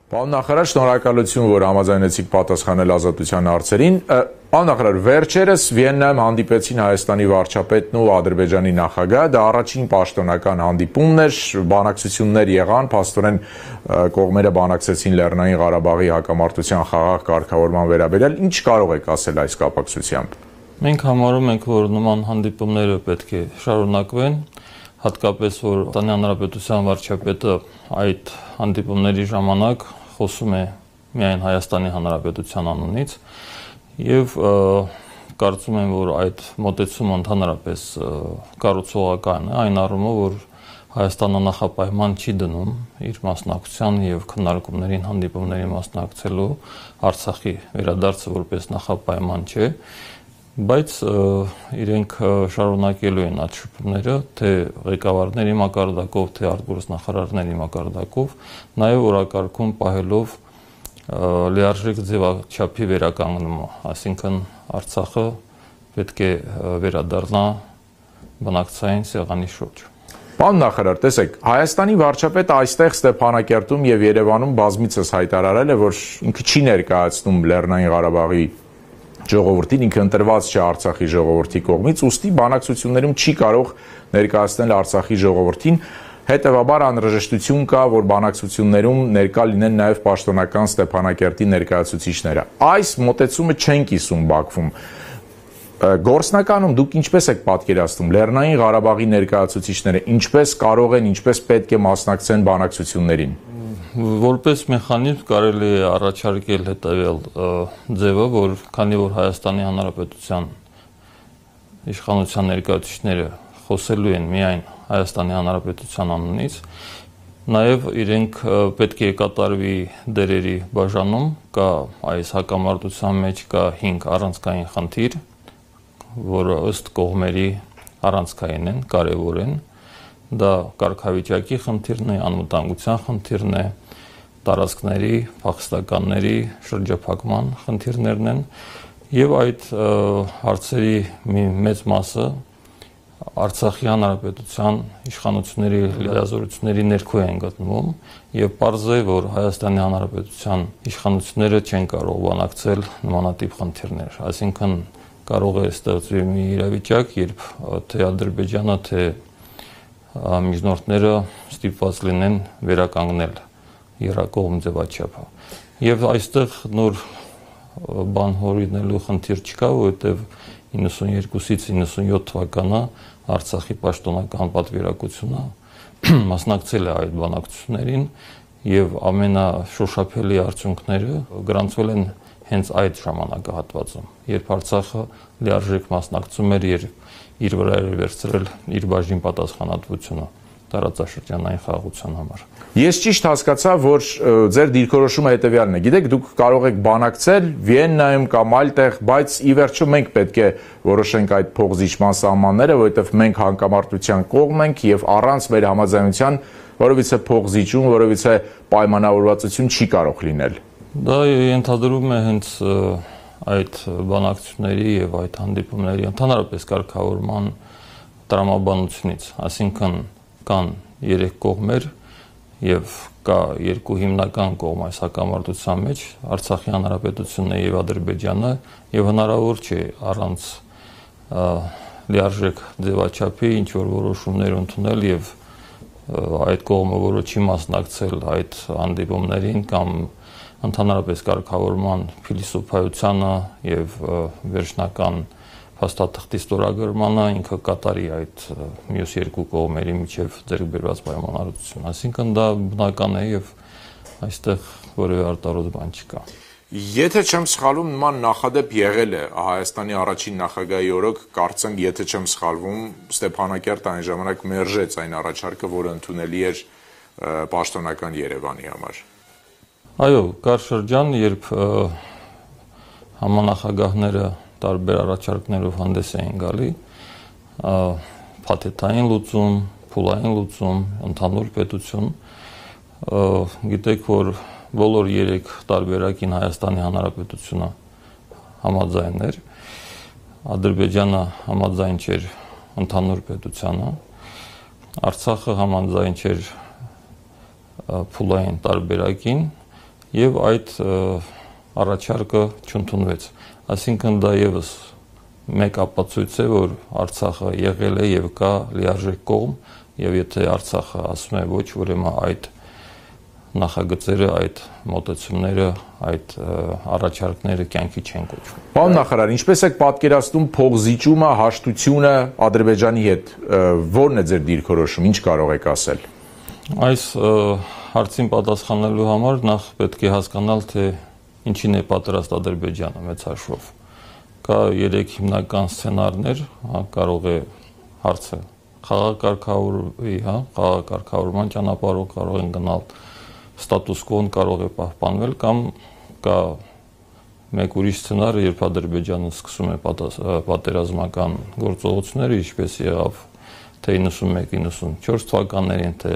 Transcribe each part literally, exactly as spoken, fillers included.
Պարոն նախարար, շնորհակալություն, որ համաձայնեցիք պատասխանել ազատության հարցերին։ Պարոն նախարար, վերջերս Վիեննայում հանդիպեցին Հայաստանի վարչապետն ու Ադրբեջանի նախագահը, դա առաջին պաշտոնական հանդիպումն էր, բանակցություններ եղան, փաստորեն կողմերը բանակցեցին Լեռնային Ղարաբաղի հակամարտության խաղաղ կարգավորման վերաբերյալ, ինչ կարող եք ասել այս կապակցությամբ։ Մենք համարում ենք, որ նման հանդիպումները պետք է շարունակվեն, հատկապես որ Հայաստանի Հանրապետության վարչապետը այդ հանդիպումների ժամանակ խոսում է միայն Հայաստանի Հանրապետության անունից եւ կարծում եմ, որ այդ մոտեցումը ընդհանրապես կառուցողական է, այն առումով, որ Հայաստանը նախապայման չի դնում իր մասնակցության եւ քննարկումներին, հանդիպումների մասնակցելու, Արցախի վերադարձը որպես նախապայման չէ, բայց իրենք շարունակելու են այդ շփումները, թե ղեկավարների մակարդակով, թե արտգործնախարարների մակարդակով, նաև օրակարգում պահելով լիարժեք ձևաչափի վերականգնումը, այսինքն Արցախը պետք է վերադառնա բնակցային սեղանի շուրջ։ Պարոն նախարար, տեսեք, Հայաստանի վարչապետը այստեղ Ստեփանակերտում եւ Երևանում բազմիցս հայտարարել է, որ ինքը չի ներկայացնում Լեռնային Ղարաբաղի ժողովրդին, ինքը ընտրված չէ Արցախի ժողովրդի կողմից, ուստի բանակցություններում չի կարող ներկայացնել Արցախի ժողովրդին, հետևաբար անհրաժեշտություն կա, որ բանակցություններում ներկա լինեն նաև պաշտոնական Ստեփանակերտի ներկայացուցիչները։ Այս մոտեցումը չեն կիսում Բաքվում։ Գործնականում դուք ինչպես եք պատկերացնում Լեռնային Ղարաբաղի ներկայացուցիչները, ինչպես կարող են, ինչպես պետք է մասնակցեն բանակցություններին։ Որպես մեխանիզմ կարելի է առաջարկել հետևյալ ձևը, որ քանի որ Հայաստանի Հանրապետության իշխանության ներկայացուցիչները խոսելու են միայն Հայաստանի Հանրապետության անունից, նաև իրենք պետք է կատարվի դերերի բաժանում, կա այս հակամարտության մեջ կա հինգ առանցքային խնդիր, որը ըստ կողմերի առանցքային են, կարևոր են, դա կարգավիճակի խնդիրն է, անվտանգության խնդիրն է, տարածքների, փախստականների շրջափակման խնդիրներն են եւ այդ հարցերի մի մեծ մասը Արցախի Հանրապետության իշխանությունների լիազորությունների ներքո են գտնվում եւ պարզ է, որ Հայաստանի Հանրապետության իշխանությունները չեն կարող բանակցել նմանատիպ խնդիրներ, այսինքն կարող է ստեղծվի մի իրավիճակ, երբ թե Ադրբեջանը, թե միջնորդները ստիպված լինեն վերականգնել եռակողմ ձևաչափը։ Եվ այստեղ նոր բան հորինելու խնդիր չկա, որովհետև իննսունյոթից իննսունյոթ թվականը Արցախի պաշտոնական պատվիրակությունը մասնակցել է այդ բանակցություններին եւ ամենաշոշափելի արդյունքները գրանցվել են հենց այդ ժամանակահատվածում, երբ Արցախը լիարժեք մասնակցում էր եւ իր վրա էր վերցրել իր բաժին պատասխանատվությունը տարածաշրջանային խաղաղության համար։ Ես ճիշտ հասկացա, որ ձեր դիրքորոշումը հետևյալն է։ Գիտեք, դուք կարող եք բանակցել Վիեննայում կամ այլտեղ, բայց ի վերջո մենք պետք է որոշենք այդ փոխզիջման սահմանները, որովհետև մենք հակամարտության կողմ ենք եւ առանց մեր համաձայնության որովհետեւ փոխզիջում, որովհետեւ պայմանավորվածություն չի կարող լինել։ Դա ենթադրում է հենց այդ բանակցությունների եւ այդ հանդիպումների ընդհանրապես կարգավորման տրամաբանությունից, այսինքն կան երեք կողմեր եւ կա երկու հիմնական կողմ այս հակամարտության մեջ, Արցախի Հանրապետությունն եւ Ադրբեջանը, եւ հնարավոր չէ առանց լիարժեք ձևաչափի ինչ որ որոշումներ ընդունել եւ այդ կողմը, որը չի մասնակցել այդ հանդիպումներին կամ ընդհանրապես կարգավորման փիլիսոփայությանը եւ վերջնական փաստաթղթի ստորագրմանը ինքը կատարի այդ մյուս երկու կողմերի միջև ձեռք բերված պայմանավորվածություն, այսինքն դա բնական է եւ այստեղ որևէ արտարոց բան չկա։ Եթե չեմ սխալվում, նման նախադեպ եղել է Հայաստանի առաջին նախագահի օրոք, կարծեմ, եթե չեմ սխալվում, Ստեփանակերտը այն ժամանակ մերժեց այն առաջարկը, որը ընդունելի էր պաշտոնական Երևանի համար։ Այո, կար շրջան, երբ համանախագահները տարբեր առաջարկներով հանդես էին գալի, փաթեթային լուծում, փուլային լուծում, ընդհանուր պետություն, գիտեք, որ բոլոր երեք տարբերակին Հայաստանի Հանրապետությունը համաձայն էր, Ադրբեջանը համաձայն չէր ընդհանուր պետությանը, Արցախը համաձայն չէր փուլային տարբերակին, եւ այդ առաջարկը չընդունվեց։ Այսինքն դա եւս մեկ ապացույց է, որ Արցախը եղել է եւ կա լիարժեք կողմ, եւ եթե Արցախը ասում է ոչ, ուրեմն այդ նախագծերը, այդ մոտեցումները, այդ առաջարկները կյանքի չեն կոչվում։ Պարոն նախարար, ինչպես եք պատկերացնում փողզիջումը, հաշտությունը Ադրբեջանի հետ, ո՞րն է ձեր դիրքորոշումը, ինչ կարող եք ասել։ Այս հարցին պատասխանելու համար նախ պետք է հասկանալ, թե ինչին է պատրաստ Ադրբեջանը մեծ հաշվով։ Կա երեք հիմնական սցենարներ, հա, կարող է հարցը խաղակարգավորվի, հա, խաղակարգավորման ճանապարհով կարող են գնալ, ստատուս կոն կարող է պահպանվել, կամ կա մեկ ուրիշ սցենար, երբ Ադրբեջանը սկսում է պատերազմական գործողությունները, ինչպես եղավ թե իննսունմեկ իննսունչորս թվականներին, թե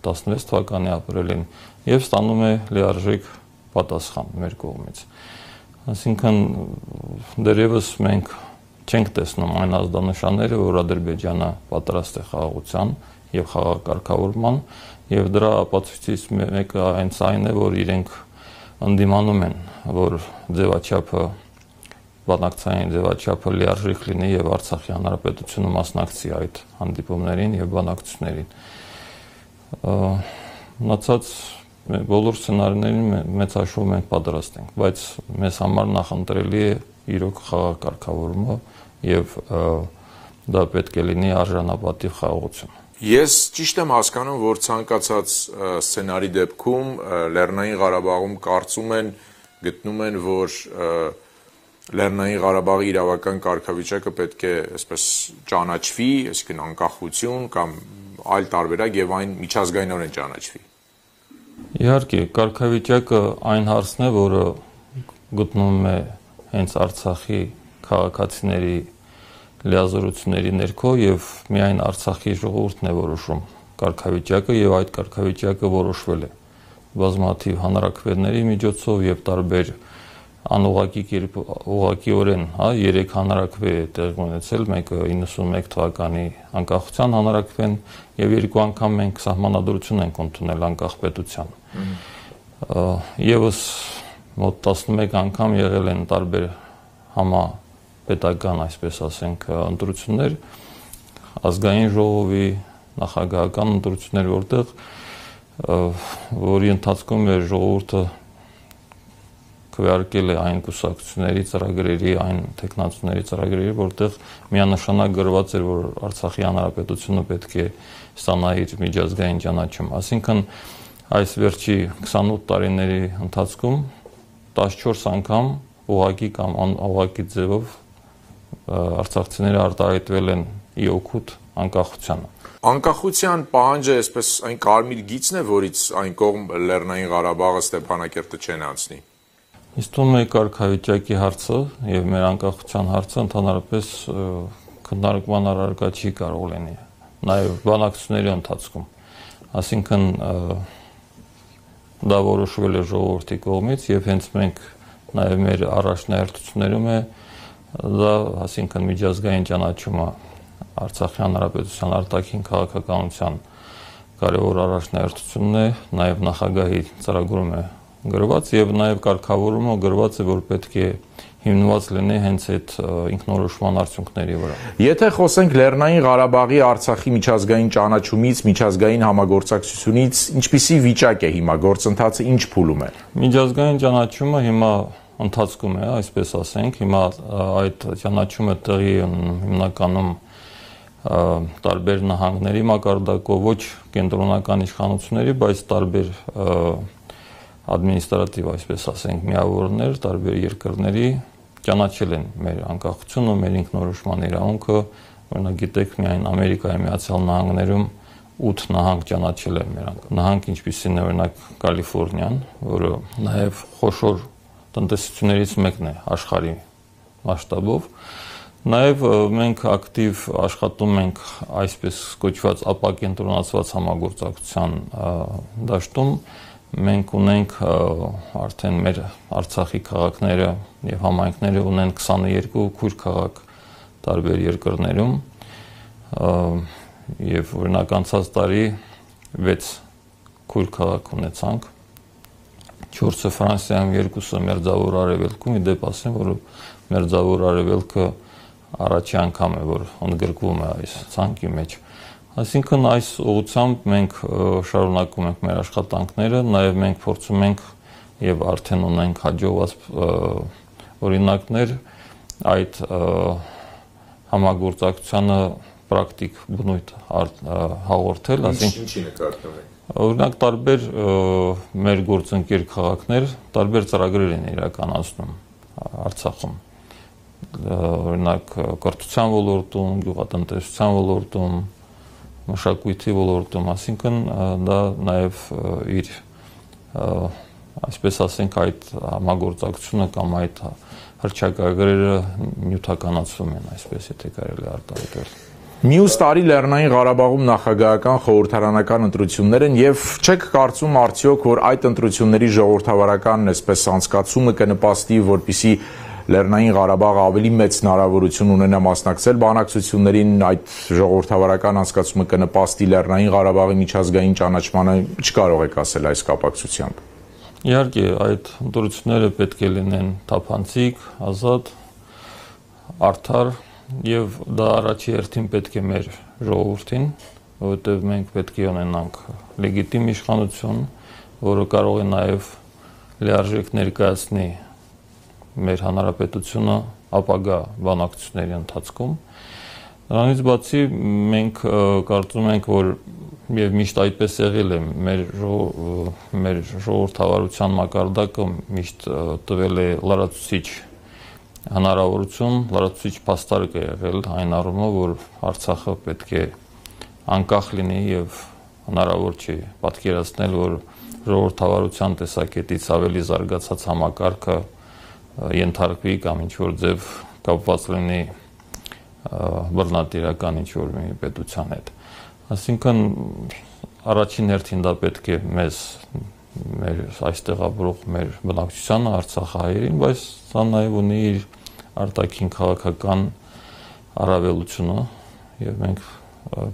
տասնվեց թվականի ապրիլին, եւ ստանում է լիարժեք պատասխան մեր կողմից։ Այսինքն դեռևս մենք չենք տեսնում այն ազդանշանները, որ Ադրբեջանը պատրաստ է խաղաղության եւ խաղակարգավորման, եւ դրա ապացույցից մեկը այնց այն է, որ իրենք ընդդիմանում են, որ ձևաչափը, բանակցային ձևաչափը լիարժեք լինի եւ Արցախի հանրապետությունը մասնակցի այդ հանդիպումներին եւ բանակցություններին։ Մնացած բոլոր սցենարներին մեծ հաշվով մենք պատրաստ ենք, բայց մեզ համար նախընտրելի է իրոք խաղակարգավորումը եւ դա պետք է լինի արժանապատիվ խաղաղություն։ Ես ճիշտ եմ հասկանում, որ ցանկացած սցենարի դեպքում Լեռնային Ղարաբաղում կարծում են, գտնում են, որ Լեռնային Ղարաբաղի իրավական կարգավիճակը պետք է այսպես ճանաչվի, այսինքն անկախություն կամ այլ տարբերակ եւ այն միջազգայինորեն ճանաչվի։ Իհարկե, կարգավիճակը այն հարցն է, որը գտնվում է հենց Արցախի քաղաքացիների լիազորությունների ներքո եւ միայն Արցախի ժողովուրդն է որոշում կարգավիճակը եւ այդ կարգավիճակը որոշվել է բազմաթիվ հանրաքվեների միջոցով եւ տարբեր անուղղակի կերպ ուղղակիորեն, հա, երեք հանրաքվե է տեղի ունեցել, մեկը իննսունմեկ թվականի անկախության հանրաքվեն եւ երկու անգամ մենք սահմանադրություն ենք ընդունել անկախ պետության։ Եվս մոտ տասնմեկ անգամ եղել են տարբեր համապետական, այսպես ասենք, ընտրություններ, ազգային ժողովի, նախագահական ընտրություններ, որտեղ որի ընթացքում է ժողովուրդը քվեարկել է այն կուսակցությունների ծրագրերի, այն տեխնացուների ծրագրերի, որտեղ միանշանակ գրված էր, որ Արցախի հանրապետությունը պետք է ստանա իր միջազգային ճանաչում։ Այսինքն այս վերջի քսանութ տարիների ընթացքում տասնչորս անգամ ուղղակի կամ անուղղակի ձևով արցախցիները արտահայտվել են ի օգուտ անկախությանը։ Անկախության պահանջը այսպես այն կարմիր գիծն է, որից այն կողմ Լեռնային Ղարաբաղը, Ստեփանակերտը չեն անցնի։ Իսկ թվում է կարգավիճակի հարցը եւ մեր անկախության հարցը ընդհանրապես քննարկման առարկա չի կարող լինի, նաեւ բանակցությունների ընթացքում։ Այսինքն դա որոշվել է ժողովրդի կողմից եւ հենց մենք նաեւ մեր առաջնահերթություններում է դա, այսինքն միջազգային ճանաչումը Արցախի հանրապետության արտաքին քաղաքականության կարևոր առաջնահերթությունն է, նաեւ նախագահի ծրագրում է գրված եւ նաեւ կարգավորումը գրված է, որ պետք է հիմնված լինի հենց այդ ինքնորոշման արդյունքների վրա։ Եթե խոսենք Լեռնային Ղարաբաղի Արցախի միջազգային ճանաչումից, միջազգային համագործակցությունից, ինչպիսի վիճակ է հիմա, գործընթացը ինչ փուլում է։ Միջազգային ճանաչումը հիմա ընթացքում է, այսպես ասենք, հիմա այդ ճանաչումը տեղի հիմնականում տարբեր նահանգների մակարդակով, ոչ կենտրոնական իշխանությունների, բայց տարբեր ադմինիստրատիվ, այսպես ասենք, միավորներ, տարբեր երկրների ճանաչել են մեր անկախությունը, մեր ինքնորոշման իրավունքը, օրինակ գիտեք, միայն Ամերիկայի Միացյալ Նահանգներում ութ նահանգ ճանաչել են մեր նահանգ, ինչպիսին է օրինակ Կալիֆոռնիան, որը նաև խոշոր տնտեսություններից մեկն է աշխարհի մասշտաբով։ Նաև մենք ակտիվ աշխատում ենք այսպես կոչված ապակենտրոնացված համագործակցության դաշտում։ Մենք ունենք արդեն մեր Արցախի քաղաքները եւ համայնքները ունեն քսաներկու քույր քաղաք տարբեր երկրներում եւ օրինակ անցած տարի վեց քույր քաղաք ունեցանք չորսը Ֆրանսիայում, երկուսը Մերձավոր Արևելքում, ի դեպ ասեմ, որ Մերձավոր Արևելքը առաջի անգամ է, որ ընդգրկվում է այս ցանկի մեջ։ Այսինքն այս ուղղությամբ մենք շարունակում ենք մեր աշխատանքները, նաև մենք փորձում ենք եւ արդեն ունենք հաջողված օրինակներ այդ համագործակցությանը պրակտիկ բնույթ հաղորդել, այսինքն ինչի նկատվում է։ Օրինակ տարբեր մեր գործընկեր քաղաքներ տարբեր ծրագրեր են իրականացնում Արցախում։ Օրինակ կրթության ոլորտում, գյուղատնտեսության ոլորտում, մշակույթի ոլորտում, այսինքն դա նաև իր այսպես ասենք այդ համագործակցությունը կամ այդ հռչակագրերը նյութականացում են, այսպես եթե կարելի արտահայտել։ Մյուս տարի Լեռնային Ղարաբաղում նախագահական խորհրդարանական ընտրություններ են եւ չեք կարծում արդյոք, որ այդ ընտրությունների ժողովրդավարական այսպես անցկացումը կնպաստի, որպիսի Լեռնային Ղարաբաղը ավելի մեծ հնարավորություն ունենա մասնակցել բանակցություններին, այդ ժողովրդավարական անցկացումը կնպաստի Լեռնային Ղարաբաղի միջազգային ճանաչմանը, չկարող եք ասել այս կապակցությամբ։ Իհարկե, այդ ընտրությունները պետք է լինեն թափանցիկ, ազատ, արդար եւ դա առաջի հերթին պետք է մեր ժողովրդին, որովհետեւ մենք պետք է ունենանք լեգիտիմ իշխանություն, որը կարող է նաեւ լիարժեք ներկայացնի մեր հանրապետությունը ապագա բանակցությունների ընթացքում։ Դրանից բացի մենք կարծում ենք, որ եւ միշտ այդպես եղել է, մեր մեր ժողովրդավարության մակարդակը միշտ տվել է լրացուցիչ հնարավորություն, լրացուցիչ փաստարկ է եղել այն առումով, որ Արցախը պետք է անկախ լինի եւ հնարավոր չի պատկերացնել, որ ժողովրդավարության տեսակետից ավելի զարգացած համակարգը ենթարկվի կամ ինչ-որ ձև կապված լինի բռնատիրական ինչ-որ մի պետության հետ։ Այսինքն առաջին հերթին դա պետք է մեզ մեր այստեղ ապրող մեր բնակչությանը, արցախահայերին, բայց սա նաև ունի իր արտաքին քաղաքական առավելությունը եւ մենք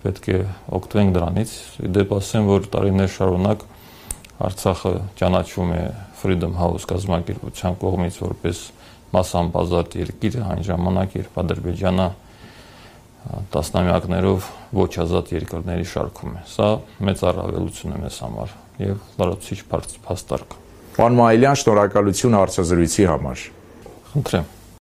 պետք է օգտվենք դրանից։ Դեպ ասեմ, որ տարիներ շարունակ Արցախը ճանաչվում է Freedom House կազմակերպության կողմից որպես մասամբ ազատ երկիր, այն ժամանակ, երբ Ադրբեջանը տասնամյակներով ոչ ազատ երկրների շարքում է։ Սա մեծ առավելություն է մեզ համար եւ լրացուցիչ փաստարկ։ Պարոն Մայիլյան, շնորհակալություն հարցազրույցի համար։ Խնդրեմ։